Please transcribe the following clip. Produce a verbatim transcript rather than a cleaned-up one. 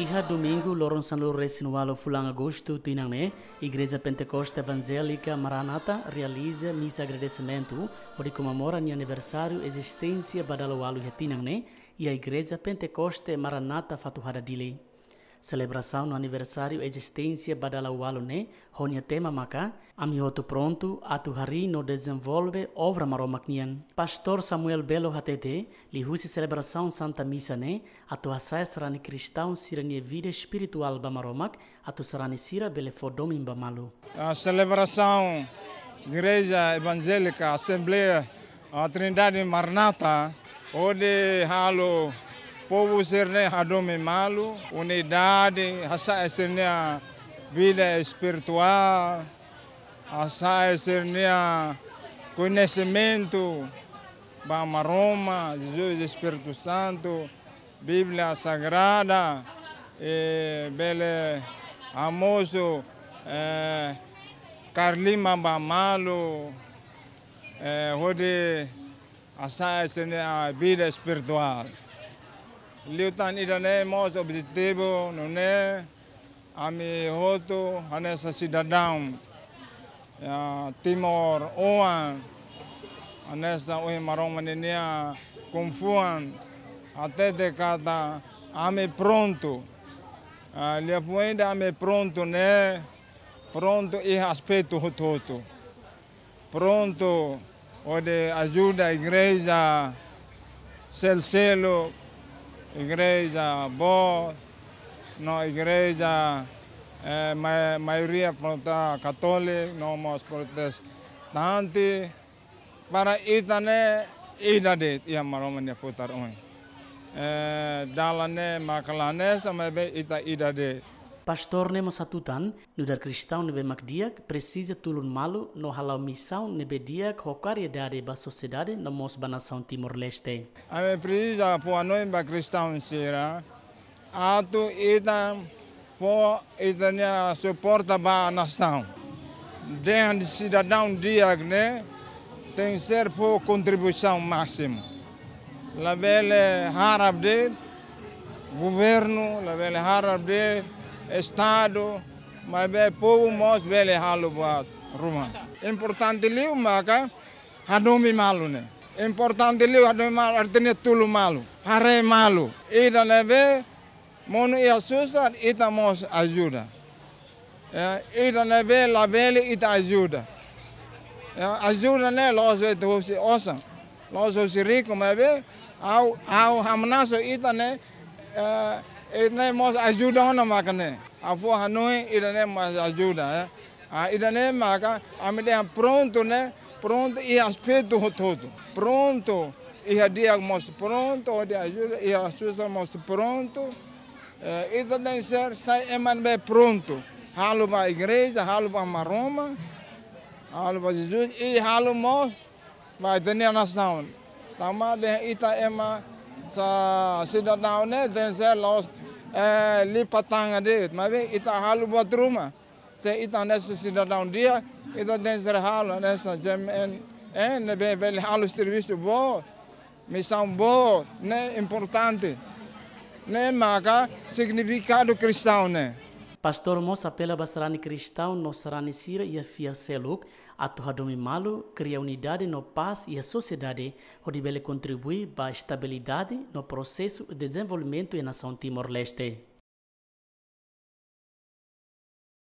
Iha domingu, loron sanulu-resin-ualu fulan Agostu tinan ne'e, Igreja Pentekoste Evangélica Maranata realiza misa agradesimentu hodi komemora nia aniversáriu ezisténsia ba dala ualu iha tinan ne'e, iha Igreja Pentekoste Maranata Fatuhada Dili. Selebrasaun no aniversáriu ezisténsia ba dala ualu ne'e, ho nia tema maka, Ami hotu prontu atu harii no dezenvolve obra Maromak nian. Pastór Samuel Belo hatete, liuhusi selebrasaun Santa Misa ne'e, atu hasa'e sarani kristaun sira-nia vida espirituál ba Maromak, atu sarani sira bele fó domin ba malu. A selebrasaun Igreja Evangélica Assembleia, a Trindade Maranata, hodi halo povu sira-ne'e hadomi malu, unidade, hasa'e sira-nia vida espirituál, hasa'e sira-nia koñesimentu ba Maromak, Jesus, Espíritu Santu, Bíblia Sagrada, eh, bele hamosu, eh, kaer liman ba malu, eh, hodi hasa'e sira-nia vida espirituál. Liután ida-ne'e mós objetivu, nune'e ami hotu hanesan sidadaun, ya, timoroan, hanesan ohin Maromak ninia ko'alia, hatete katak ami prontu. Ah, liafuan ida ami prontu ne'e, prontu iha aspetu hotu-hotu. Prontu hodi ajuda igreja seluk-seluk, igreja boot, no igreja, eh, ma-, maioria protesta katólika, no mós protestante, para ita ne'e ida de'it iha Maromak nia futar oin. Eh, dalan ne'e maka la hanesan, maibé ita ida de'it. Pastór ne'e mós hatutan, nu'udar kristaun ne'ebé mak di'ak, presiza tulun malu no hala'o misaun ne'ebé di'ak ho karidade ba sosiedade no mós ba nasaun Timor-Leste. Ami presiza fó hanoin ba kristaun sira, atu ita fó ita-nia suporta ba nasaun. Dehan sidadaun di'ak ne'e tenke ser fó kontribuisaun másimu. Labele harap de'it governu, labele harap de'it estadu, maibé povu mós bele halo buat ruma. Importante liu maka hadomi malu ne'e. Importante liu hadomi malu, artinya tulun malu, haree malu. Ida ne'ebé monu iha susar, ita mós ajuda. Ya, ida ne'ebé labele ita ajuda. Ya, ajuda ne'e la'ós de'it husi osan, la'ós husi riku, maibé ha'u, ha'u hamnasa ita ne'e, eh, ita ne'e mós ajuda ona maka ne'e. Ha'u fó hanoin ida ne'e mós ajuda, ya. Ah, ida ne'e maka ami dehan prontu ne'e, prontu iha aspetu hotu-hotu. Prontu iha di'ak mós prontu, hodi ajuda, iha susar mós prontu. Eh, ita tenke ser sai ema ne'ebé prontu. Halo ba igreja, halo ba Maromak, halo ba Jesus, i halo mós ba ita-nia nasaun. Tanba dehan ita ema sa sidadaun ne'e tenke ser la'ós, eh, lipat tangan de'it, maibé ita halo buat ruma. Se ita hanesan sidadaun di'ak, ita tenke ser halo hanesan J M N, eh, ne'ebé bele halo servisu boot, misaun boot, ne'e importante. Ne'e maka signifikadu kristaun ne'e. Pastór mós apela ba sarani kristaun no sarani sira iha fiar seluk, atu hadomi malu, kria unidade no pás iha sosiedade, hodi bele kontribui ba estabilidade no prosesu dezenvolvimentu iha nasaun Timor-Leste.